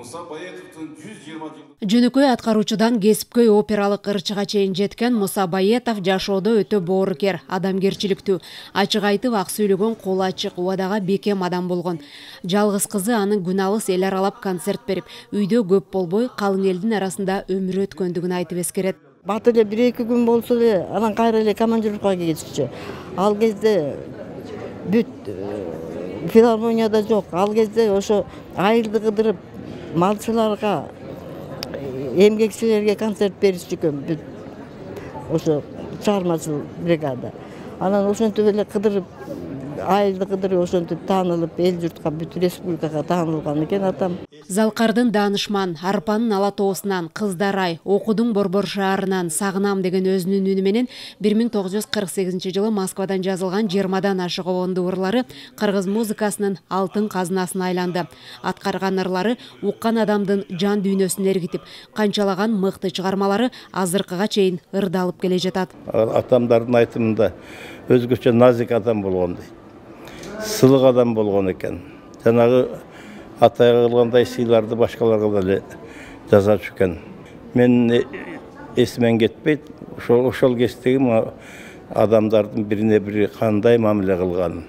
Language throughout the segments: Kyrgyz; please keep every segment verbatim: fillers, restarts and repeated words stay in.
Муса Баетовдун жүз жыйырма жылдык Жөнөкөй аткаруучудан кесипкөй опералык ырчыга чейин жеткен Муса Баетов жашоодо өтө боорукер, адамгерчиликтүү, ачык айтып ак сүйлөгөн, колу ачык, убадага бекем адам болгон. Жалгыз кызы анын күн алыс эл аралап концерт берип, үйдө көп болбой, калың элдин арасында өмүр өткөндүгүн айтып эскерет. Бат эле бир эки күн болсо эле анан кайра эле командировкага кетишчү. Ал кезде бүт филармонияда жок. Ал кезде ошо айылды кыдырып малчыларга, эмгекчилерге концерт беришчү экен. Бүт ошо чыгармачыл бригада. Анан ошентип эле кыдырып, айылды кыдырып ошентип таанылып, эл журтка, бүт республикага таанылган экен атам. Залкардын Даанышман, Арпанын Ала тоосунан, Кыздарай, Окудун Борбор шаарынан сагынам деген өзүнүн үнү менен бир миң тогуз жүз кырк сегизинчи жылы Москвадан жазылган жыйырмадан ашык обондуу ырлары кыргыз музыкасынын алтын казынасына айланды. Аткарган ырлары уккан адамдын жан дүйнөсүн эргитип, канчалаган мыкты чыгармалары азыркыга чейин ырдалып келе жатат. Атамдардын айтымында өзгөчө назик адам болгон дейт. Сылык адам болгон экен. Жанагы атайга кылгандай сыйларды башкаларга деле жасап экен. Мен эсимен кетпейт, ошол ошол кездеги адамдардын бирине бири кандай мамиле кылганын.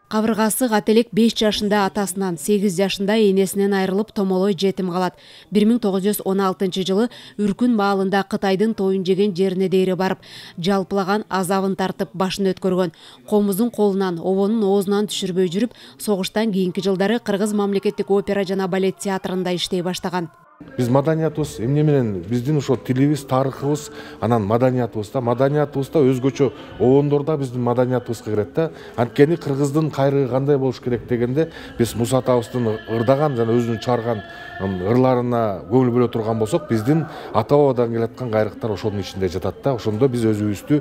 Кабыргасы кателек беш жашында атасынан, сегиз жашында энесинен айрылып томолой жетим калат. бир миң тогуз жүз он алтынчы жылы Үркүн маалында Кытайдын тоюн жеген жерине дейре барып, жалпылаган азабын тартып башын өткөргөн. Комуздун колунан, обонун оозунан түшүрбөй жүрүп, согуштан кийинки жылдары Кыргыз мамлекеттик опера жана балет театрында иштей баштаган. Биз маданиятыбыз эмне менен биздин ошо тилибиз, тарыхыбыз, анан маданиятыбыз да, маданиятыбыз да өзгөчө обондор да биздин маданиятыбызга кирет да. Анткени кыргыздын кайрыгы кандай болуш керек дегенде, биз Муса атабыздын ырдаган жана өзүнүн чыгарган ырларына көңүл бөлө турган болсок, биздин ата бабадан келаткан кайрыктар ошонун ичинде жатат да. Ошондо биз өзүбүздү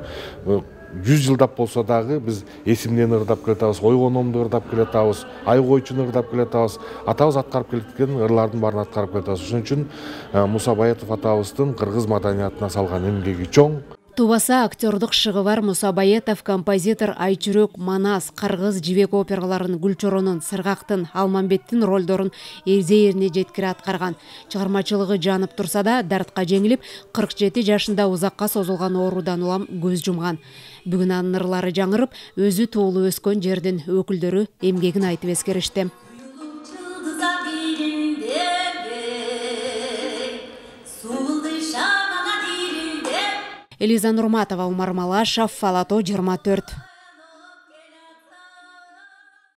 жүз жылдап болсо дагы биз эсимден ырдап келатабыз, ойгономду ырдап келатабыз, ай койчуну ырдап келатабыз, атабыз аткарып келаткан ырлардын баарын аткарып келатабыз. Ошон үчүн Муса Баетов атабыздын кыргыз маданиятына салган эмгеги чоң. Тубаса актёрдук шыгы бар Муса Баетов композитор Айчүрөк, Манас, Кыргыз жибек операларын, Гүлчоронун, Сыргактын, Алмамбеттин ролдорун эрзе-эрине жеткире аткарган. Чыгармачылыгы жанып турса да, дартка жеңилип, кырк жети жашында узакка созулган оорудан улам көз жумган. Бүгүн анын ырлары жаңырып, өзү туулуп өскөн жердин өкүлдөрү эмгегин айтып эскеришти. Элиза Нурматова, Умар Малашев, Ала тоо жыйырма төрт.